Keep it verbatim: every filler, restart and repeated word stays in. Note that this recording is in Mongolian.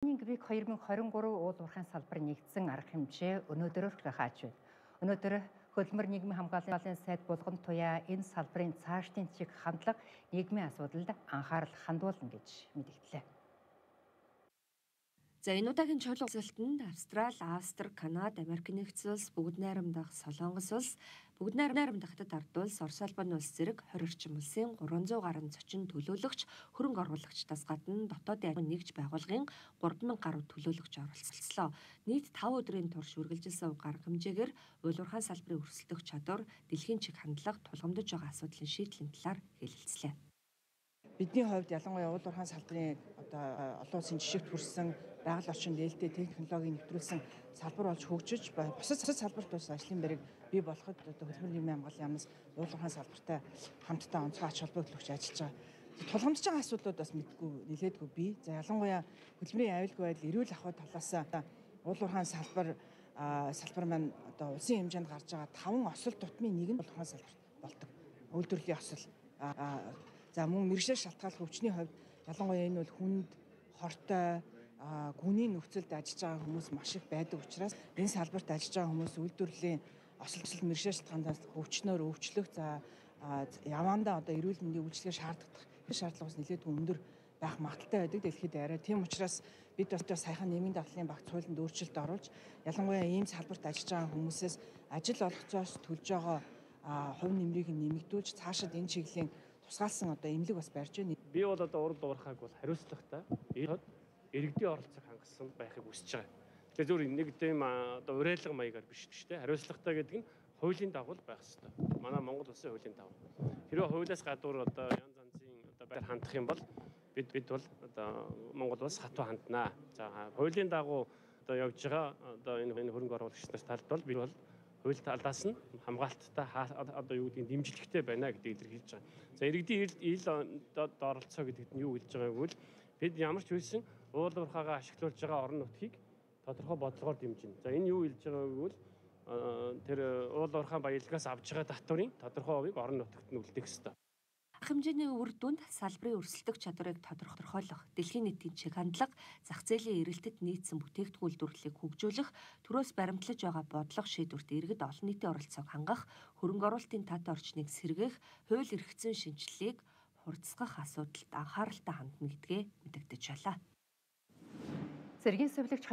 Грек хоёр мың двадцать три уул уурхайн салбар нэгдсэн арга хэмжээ өнөөдрөөр хааж байна. Өнөөдөр хөдөлмөр нийгмийн хамгааллын сайд булган туяа энэ салбарын цаашдын чиг хандлага нийгмийн асуудалд анхаарал хандуулна гэж мэдгдлээ. За энэ удаагийн чуулга уулзалтанд Австрали, Австри, Канада, Америк нэгдсэн улс, Бүгд найрамдах Солонгос улс, Бүгд найрамдах Хятад ард улс, Орос улбаны улс зэрэг хорь орчим улсын гурван зуун гаруй зочин төлөөлөгч, хөрөнгө оруулагчдаас гадна дотоодын ажил нэгж байгууллагын гурван мянга гаруй төлөөлөгч оролцолцлоо. Нийт таван өдрийн турш үргэлжилсэн арга хэмжээгээр уул уурхайн салбарын өрсөлдөх чадвар, дэлхийн чиг хандлага тулгамдж байгаа асуудлын шийдлийн талаар хэлэлцлээ. Бидний хувьд ялангуяа уул уурхайн салбарын одоо олон улсын жишгт хүрсэн байгаль орчин нээлттэй технологийн нэвтрүүлсэн салбар болж хөгжиж бусад салбарт бас ажлын байрыг бий болоход одоо хөдөлмөр нийгмийн хамгааллын яамнаас уул уурхайн салбартай хамтдаа онцгой ач холбогдол өгч ажиллаж байгаа. Тулгамдж байгаа асуудлууд бас мэдгүй нэлээдгүй бий. За ялангуяа хөдөлмөрийн аюулгүй байдал, эрүүл ахуй талаас уул уурхайн салбар салбар маань одоо улсын хэмжээнд гарч байгаа таван осол тутмын нэг нь уул уурхайн салбарт болдог. Үйлдвэрлэлийн осол. За мөн мэргэжил шалтгааллах өвчний хувьд ялангуяа энэ бол хүнд, хортой, гүний нөхцөлд ажиллаж байгаа хүмүүс маш их байдаг учраас энэ салбарт ажиллаж байгаа хүмүүс үйлдвэрлэлийн осол мэргэжил шалтгаанаас өвчнөөр өвчлөх, за явандаа одоо эрүүл мэндийн үйлчилгээ шаарддаг шаардлагаас нэлээдгүй өндөр байх магадaltaй байдаг дэлхийд арай. Тийм учраас бид бас саяхан нийгмийн дадлын багц хуулинд өөрчлөлт оруулж ялангуяа ийм салбарт ажиллаж байгаа хүмүүсээс ажил олгоцоос төлж байгаа хувь нэмрийг нэмэгдүүлж цаашид энэ чиглэлийн тусгаалсан одоо эмнэлэг бас барьж байна. Би бол одоо урд уурхайг бол хариуцлагатай иргэдийн оролцоог хангасан байхыг хүсэж байгаа. Тэгэхээр зөвхөн нэг тийм одоо уриалга маягаар биш биш те хариуцлагатай гэдэг нь хуулийн дагуу байх ёстой. Манай Монгол улсын хуулийн дагуу. Хэрвээ хуулиас гадуур одоо янз янзын одоо байр хандах юм бол бид бид бол одоо Монгол улс хатуу ханднаа. За хуулийн дагуу одоо явж байгаа одоо энэ энэ хөрөнгө оруулагч нарт талд бол бид бол хууль талаас нь хамгаалттай одоо юу гэдгийг дэмжлэгтэй байна гэдгийг илэрхийлж байгаа. За иргэдийн ил оролцоо гэдэгт нь юу хэлж байгааг бол бид ямар ч үйлсэн уул уурхайгаа ашиглуулж байгаа орон нутгийг тодорхой бодлогоор дэмжинэ. За энэ юу хэлж байгааг бол тэр уул уурхайн баялагаас авж байгаа татврын тодорхой хувийг орон нутагт нь үлдээх ёстой. Хэмжээний үр дүнд салбарын өрсөлдөх чадварыг тодорхойлох, дэлхийн нийтийн чиг хандлага, зах зээлийн эрэлтэд нийцсэн бүтээгдэхүүн үйлдвэрлэлийг хөгжүүлэх, төрөөс баримтлаж байгаа бодлого шийдвэрт иргэд олон нийтийн оролцоог хангах, хөрөнгө оруулалтын тат орчныг сэргээх, хууль эрх зүйн шинжилгээг хурцсгах асуудалд анхааралтай хандна гэдгээ мэдэгдэж байна. Цэргийн сувилагч